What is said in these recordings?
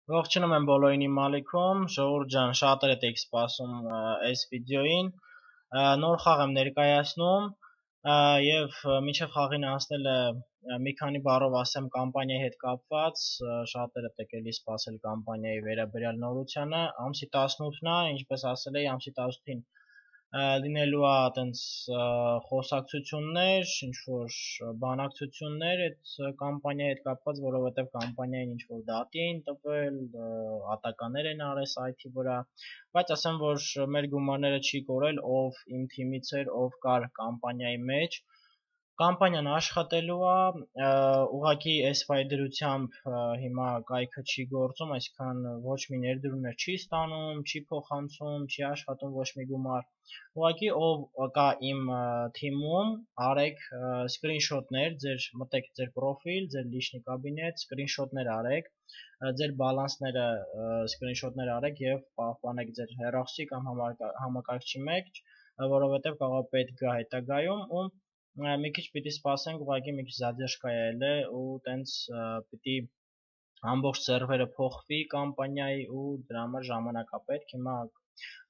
Ողջունում եմ բոլորին իմ ալիքում, Ժողովուրդ ջան, շատերդ եք սպասում այս վիդեոին, նոր խաղ եմ ներկայացնում եւ մինչեւ խաղին անցնելը մի քանի բառով ասեմ կամպանիայի հետ կապված, շատերդ եք էլի սպասել կամպանիայի վերաբերյալ նորությանը, ամսի 18-ն է, ինչպես ասել էի, ամսի 18-ին լինելու է այտենց խոսակցություններ, ինչ-որ բանակցություններ այդ կամպանիայի հետ կապված, որովհետև կամպանիային ինչ-որ դատի էին տվել, ատականներ են արել սայթի վրա, բայց ասեմ, որ մեր գումարները չի կորել, ով իմ թիմից էր, ով կար կամպանիայի մեջ, կամպանիան աշխատելու է, ուղղակի այս վայրդրությամբ հիմա կայքը չի գործում, այսինքն ոչ մի ներդրումներ չի ստանում, չի փոխանցում, չի աշխատում ոչ մի գումար, ուղղակի ով կա իմ թիմում, արեք սկրինշոտներ, մտեք ձեր պրոֆիլ, ձեր լիչնի կաբինետ, սկրինշոտներ արեք, ձեր բալանսները սկրինշոտներ արեք եւ պահպանեք ձեր հեռախոսի կամ համակարգչի մեջ, որովհետեւ կարող է պետք գա հետագայում ու մի քիչ պիտի սպասենք, ուղղակի մի քիչ задержка ել է ու տենց պիտի ամբողջ սերվերը փոխվի կամպանիայի ու դրա համար ժամանակ է պետք, հիմա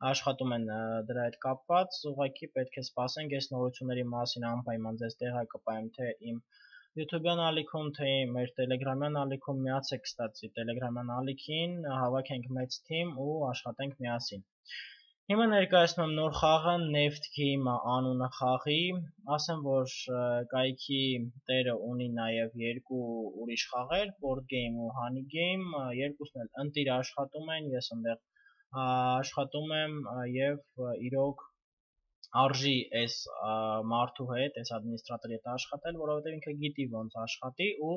աշխատում են դրա հետ կապված, ուղղակի պետք է սպասենք, այս նորությունների մասին անպայման ձեզ տեղեկապայեմ թե իմ YouTube-յան ալիքում, թե մեր Telegram-յան ալիքում, միացեք կստացի Telegram-յան ալիքին, հավաքենք մեծ թիմ ու աշխատենք միասին։ Հիմա ներկայացնում եմ նոր խաղը, Neft Game անունը խաղի, ասեմ, որ կայքի տերը ունի նաև երկու ուրիշ խաղեր, Board Game ու Honey Game, երկուսն էլ ընտիր աշխատում են, ես ընդեղ աշխատում եմ եւ իրոք արժի այս մարդու հետ, այս ադմինիստրատորի հետ աշխատել, որովհետեւ ինքը գիտի ոնց աշխատի ու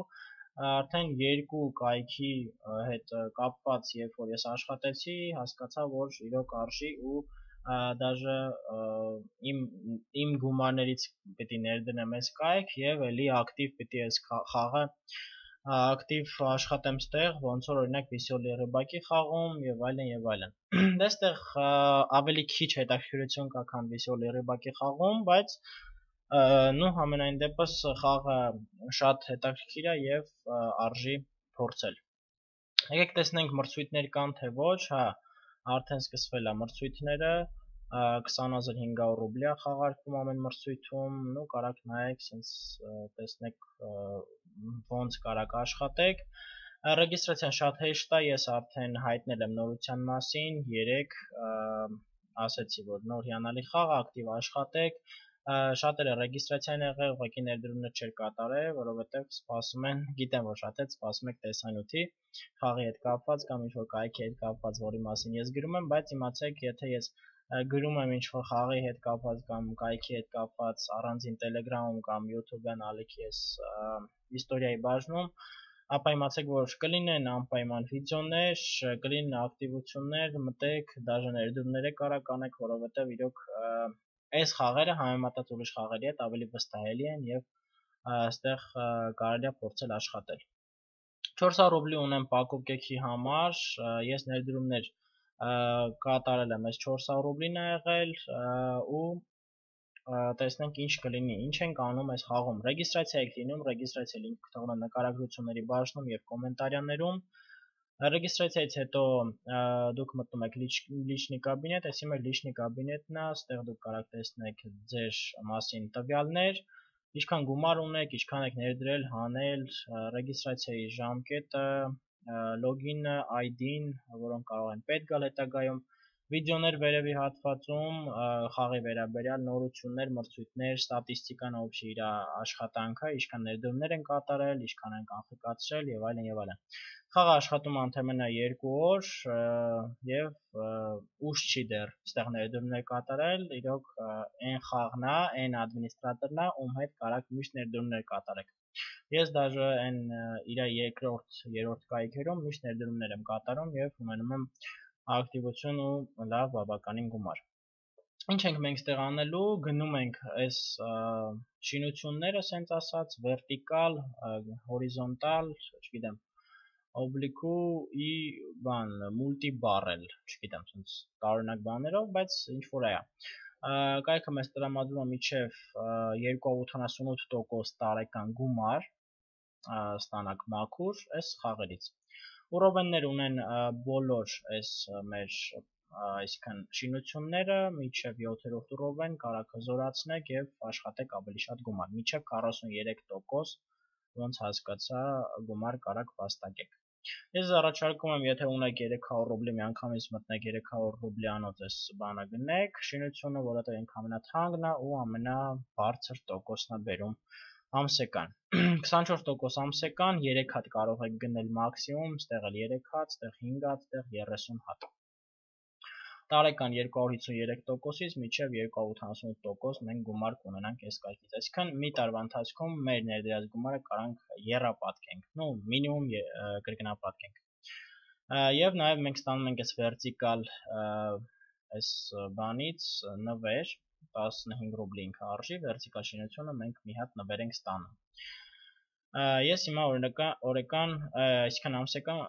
արդեն երկու կայքի հետ կապված, երբ որ ես աշխատեցի, հասկացա, որ իրոք արժի ու դաժե իմ գումարներից պիտի ներդնեմ այս կայք եւ էլի ակտիվ պիտի այս խաղը ակտիվ աշխատեմ ստեղ, ոնց որ օրինակ Վիսոլի Ռыбակի խաղում եւ այլն եւ այլն։ Դեստեղ ավելի քիչ հետաքրքրություն կա, քան Վիսոլի Ռыбակի խաղում, բայց նու համենայն դեպս խաղը շատ հետաքրքիր է եւ արժի փորձել։ Եկեք տեսնենք մրցույթներ կան թե ոչ, հա, արդեն սկսվել է մրցույթները, 20500 ռուբլի է խաղարկվում ամեն մրցույթում, նու կարաք նայեք, սենց տեսնեք ոնց կարաք աշխատեք։ Ռեգիստրացիան շատ հեշտ է, ես արդեն հայտնել եմ նորության մասին, երեք ասեցի, որ նոր հիանալի խաղ, ակտիվ աշխատեք, շատերը ռեգիստրացիա են եղել, ուղղակի ներդրումներ չէր կատարել, որովհետև սպասում են, գիտեմ, որ շատեր սպասում եք տեսանյութի, խաղի հետ կապված կամ ինչ-որ կայքի հետ կապված, որի մասին ես գրում եմ, բայց իմացեք, եթե ես գրում եմ ինչ-որ խաղի հետ կապված կամ կայքի հետ կապված առանձին Telegram-ում կամ YouTube-յան ալիքի ես իստորիայի բաժնում, ապա իմացեք, որ կլինեն անպայման վիդեոներ, կլինեն ակտիվություններ, մտեք, դաժե ներդրումներ կարաք անեք, որովհետև իրոք այս խաղերը համեմատած ուրիշ խաղերի հետ ավելի վստահելի են եւ այստեղ կարելի է փորձել աշխատել։ 400 ռուբլի ունեմ Պակոկ կեքի համար, ես ներդրումներ կատարել եմ, այս 400 ռուբլին է եղել ու տեսնենք ինչ կլինի, ինչ ենք անում այս խաղում։ Ռեգիստրացիա եք լինում, ռեգիստրացիա լինքը թողնում եմ նկարագրությունների բաժնում եւ կոմենտարյաներում։ Ռեգիստրացիայից հետո դուք մտնում եք լիչնի կաբինետ, այսի մեր լիչնի կաբինետն է, ստեղ դուք կարաք տեսնեք ձեր մասին տվյալներ, ինչքան գումար ունեք, ինչքան եք ներդրել, հանել, ռեգիստրացիայի ժամկետը, լոգինը, ID-ն, որոնք կարող են պետք գալ հետագայում, վիդեոներ վերևի հատվածում, խաղի վերաբերյալ նորություններ, մրցույթներ, ստատիստիկան օբշի իր աշխատանքը, ինչքան ներդրումներ են կատարել, ինչքան են կանխիկացրել եւ այլն եւ այլն։ Խաղը աշխատում ընդամենը 2 օր եւ ուշ չի դեռ այստեղ ներդրումներ կատարել, իրոք այն խաղն է, այն ադմինիստրատորն է, ում հետ կարաք միշտ ներդրումներ կատարեք։ Ես դաժե այն իր երրորդ կայքերում միշտ ներդրումներ եմ կատարում եւ ունենում եմ ակտիվություն ու լավ բավականին գումար։ Ինչ ենք մենք ստեղ անելու, գնում ենք այս շինությունները, ասենց ասած, վերտիկալ, հորիզոնտալ, չգիտեմ, օբլիկու ի բան, մուլտիբարել, չգիտեմ, ասենց տարօրինակ բաներով, բայց ինչ որ է։ Կայքը մեզ տրամադրում է մինչև 288% տարեկան գումար ստանաք մաքուր այս խաղերից։ Ուրովեններ ունեն բոլոր այս մեր այսքան շինությունները մինչև 7-րդ ուրովեն կարող հզորացնեք եւ աշխատեք ավելի շատ գումար, մինչև 43% ոնց հասկացա գումար կարող վաստակեք։ Ես առաջարկում եմ, եթե ունեք 300 ռուբլի, միանգամից մտնեք 300 ռուբլի անոց այս բանը գնեք, շինությունը, որովհետև ինքը ամենաթանկն է ու ամենաբարձր տոկոսն է բերում ամսեկան։ 24% ամսեկան, 3 հատ կարող եք գնել մաքսիմում, ստեղ էլ 3 հատ, ստեղ 5 հատ, ստեղ 30 հատ։ Տարեկան 253%-ից մինչև 288% մենք գումար կունենանք այս կայքից։ Այսինքն մի տարվա ընթացքում մեր ներդրած գումարը կարանք եռապատկենք, նո մինիմում կրկնապատկենք։ Եվ նաև մենք ստանում ենք այս վերտիկալ այս բանից նվեր 15 ռուբլի ինքը արժի, վերտիկալ շինությունը մենք մի հատ նվեր ենք ստանում։ Ես հիմա օրական, այսինքն ամսեկան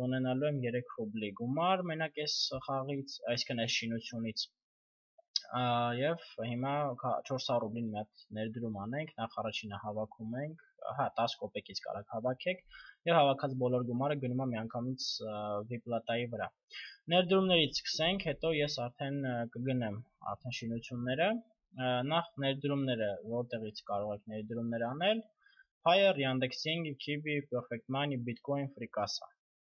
ունենալու եմ 3 ռուբլի գումար մենակ այս խաղից, այսինքն այս շինությունից։ Եվ հիմա 400 ռուբլին մի հատ ներդրում անենք, նախ առաջինը հավաքում ենք, 10 կոպեկից կարող հավաքեք եւ հավաքած բոլոր գումարը գնում է միանգամից վիպլատայի վրա։ Ներդրումներից սկսենք, հետո ես արդեն կգնեմ արդեն շինությունները, նախ ներդրումները, որտեղից կարող եք ներդրումներ անել, Payeer, Yandex.Ing, Kiwi, Perfect Money, Bitcoin, Fricassa։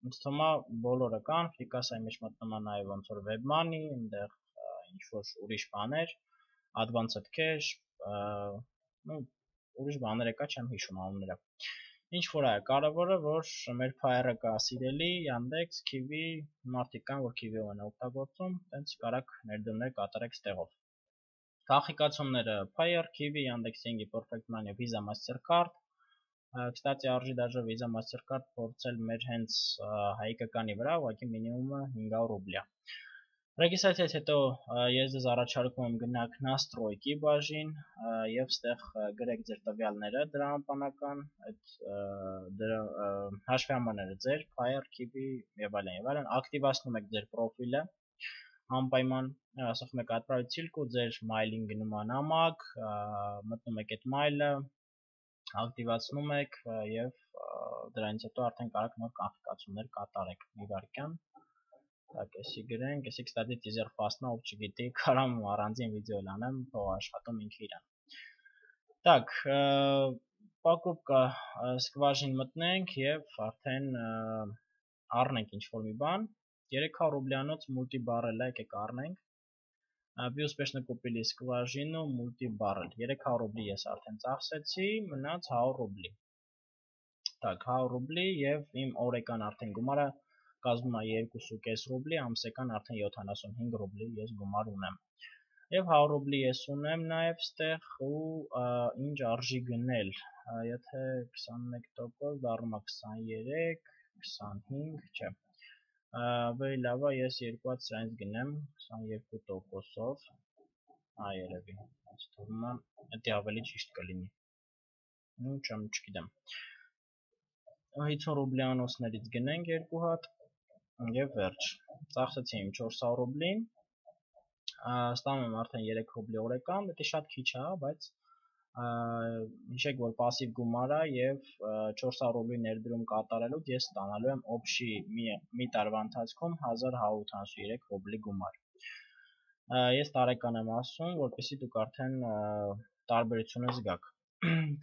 Ինձ թվում է բոլորը կան, Fricassa-ի մեջ մտնում է նաև ոնց որ WebMoney, այնտեղ ինչ որ ուրիշ բաներ, Advanced Cash, ուրիշ բաներ կա, չեմ հիշում անունները։ Ինչ որ է, կարևորը որ մեր Payeer-ը կա սիրելի, Yandex, Kiwi, մարդիկ կան, որ Kiwi-ով են օգտագործում, տենց կարաք ներդրումներ կատարեք ստեղով։ Քաղաքացիները Payeer, Kiwi, Yandex.Ing, Perfect Money, Visa, Mastercard։ Կստացի արժի դաժե Visa Mastercard փորձել մեր հենց հայկականի վրա, ուղղակի մինիմումը 500 ռուբլի է։ Ռեգիստրացիայից հետո ես ձեզ առաջարկում եմ գնաք Настройки բաժին եւ ստեղ գրեք ձեր տվյալները դրամապանական, այդ հաշվամարները ձեր, Payeer, Kiwi եւ այլն, ակտիվացնում եք ձեր պրոֆիլը անպայման, ասում եք отправить ссылку, ձեր մայլին գնում է նամակ, մտնում եք այդ մայլը, ակտիվացնում եք եւ դրանից հետո արդեն կարող նոր կանխիկացումներ կատարեք մի վարքյան։ Так, էսի գրենք, էսի կստати teaser fast-նա, ով չգիտի, կարամ առանձին վիդեո լանեմ, թող աշխատում ինքը իրան։ Так, покупка սկվաժին մտնենք եւ արդեն առնենք ինչ որ մի բան, 300 ռուբլյանոց multi-barrel եկեք առնենք։ Вы успешно купили скважину multi-barrel, 300 ռուբլի ես արդեն ծախսեցի, մնաց 100 ռուբլի։ Так, 100 ռուբլի եւ իմ օրական արդեն գումարը կազմում է 2.5 ռուբլի, ամսական արդեն 75 ռուբլի ես գումար ունեմ։ Եվ 100 ռուբլի ես ունեմ նաև ստեղ ու ինչ արժի գնել, եթե 21% դառնում է 23, 25, չէ։ Ավելի լավ է ես երկու հատ սրանից գնեմ 22%-ով, երևի, ինձ թվում է դա ավելի ճիշտ կլինի։ Ну, չգիտեմ։ 50 ռուբլյանոցներից գնենք երկու հատ եւ վերջ։ Ծախսեցի իմ 400 ռուբլին, ստանում եմ արդեն 3 ռուբլի օրական, դա շատ քիչ է, բայց հիշեք, որ пассив գումար է եւ 400 ռուբլի ներդրում կատարելուց ես ստանալու եմ օբշի մի տարվա ընթացքում 1183 ռուբլի գումար։ Ես տարեկան եմ ասում, որպեսզի դուք արդեն տարբերությունը զգաք։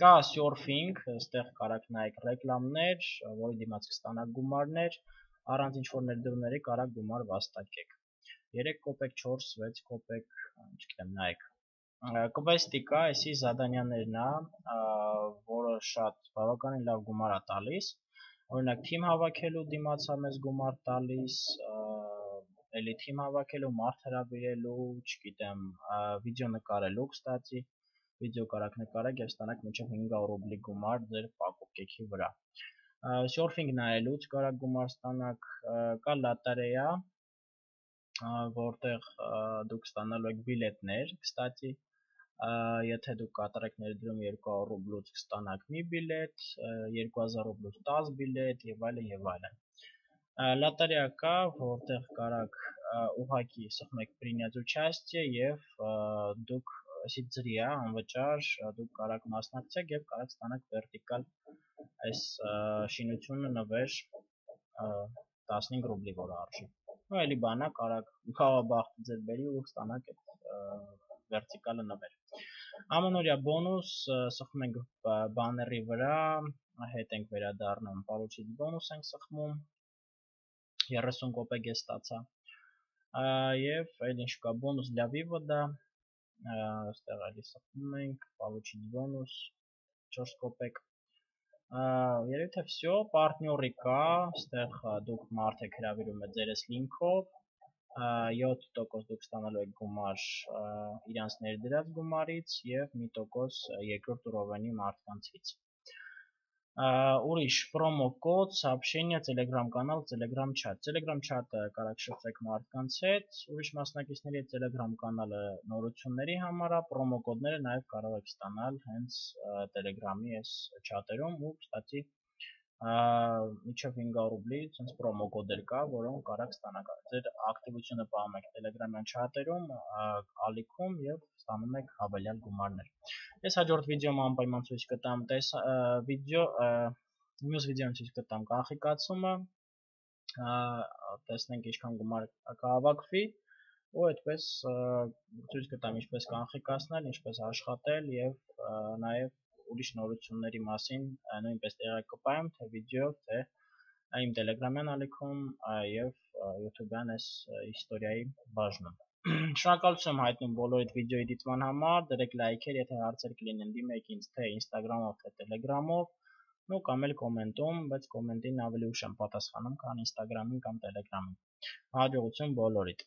Կա surfing, այստեղ կարաք նայեք ռեկլամներ, որի դիմաց կստանաք գումարներ, առանց ինչ-որ ներդրումների կարաք գումար վաստակեք։ 3 կոպեկ, 4, 6 կոպեկ, չգիտեմ, նայեք։ Quest-ի կա, այսի զադանյաներն է, որը շատ բավականին լավ գումար է տալիս։ Օրինակ թիմ հավաքելու դիմաց է մեզ գումար տալիս, էլի թիմ հավաքելու, մարդ հրավիրելու, չգիտեմ, վիդեո նկարելու, կստացի, վիդեո կարաք նկարեք եւ ստանաք մինչեւ 500 ռուբլի գումար ձեր պակոպկեքի վրա։ Surfing նայելուց կարաք գումար ստանաք, կա լոտարեա, որտեղ դուք ստանալու եք բիլետներ, կստացի, եթե դուք կատարեք ներդրում 200 ռուբլուց կստանաք մի բիլետ, 2000 ռուբլուց 10 բիլետ եւ այլն եւ այլն։ Լոտարեա կա, որտեղ կարաք ուղղակի սխմեք принять участие եւ դուք այսի ծրի է անվճար, դուք կարաք մասնակցեք եւ կարաք ստանաք վերտիկալ այս շինությունը նվեր 15 ռուբլի որ արժի։ Ու էլի բանա կարող բախտը ձեր բերի ու ստանաք այդ վերտիկալը նվեր։ Ամանորյա բոնուս սխմում ենք բաների վրա, հետ ենք վերադառնում, получить բոնուս ենք սխմում, 30 կոպեկ է ստացա։ Եվ այլ ինչ կա, բոնուս для вывода, այստեղ էլի սխմում ենք, получить բոնուս 4 կոպեկ։ Երևի թե всё, партнёрի կա, այստեղ դուք մարդ եք հրավիրում եք ձեր լինքով, 7% դուք ստանալու եք գումար իրանց ներդրած գումարից եւ 1% երկրորդ ռովենի մարդկանցից։ Ուրիշ պրոմո կոդ, сообщение, Telegram կանալ, Telegram chat։ Telegram chat-ը կարող շփվեք մարդկանց հետ, ուրիշ մասնակիցների հետ Telegram կանալը նորությունների համար է, պրոմո կոդները նաև կարող եք ստանալ հենց Telegram-ի այս chat-երում ու, կստացի, մինչև 500 ռուբլի ցենց պրոմո կոդեր կա, որոնք կարող ստանաք։ Ձեր ակտիվությունը պահում եք Telegram-յան chat-երում, ալիքում եւ ստանում եք հավելյալ գումարներ։ Ես հաջորդ վիդեոում անպայման ցույց կտամ մյուս վիդեոն ցույց կտամ կանխիկացումը, տեսնենք ինչքան գումար կհավաքվի ու այդպես ցույց կտամ ինչպես կանխիկացնել, ինչպես աշխատել եւ նաեւ ուրիշ նորությունների մասին նույնպես տեղյակ կպահեմ թե վիդեոյով, թե իմ Telegram-յան ալիքում եւ YouTube-յան այս հիստորիայի բաժնում։ Շնորհակալություն եմ հայտնում բոլորիդ վիդեոյի դիտման համար, դրեք լայքեր, եթե հարցեր կլինեն դիմեք ինձ թե Instagram-ով, թե Telegram-ով, ու կամ էլ կոմենտում, բայց կոմենտին ավելի ուշ եմ պատասխանում, քան Instagram-ին կամ Telegram-ին։ Հաջողություն բոլորիդ։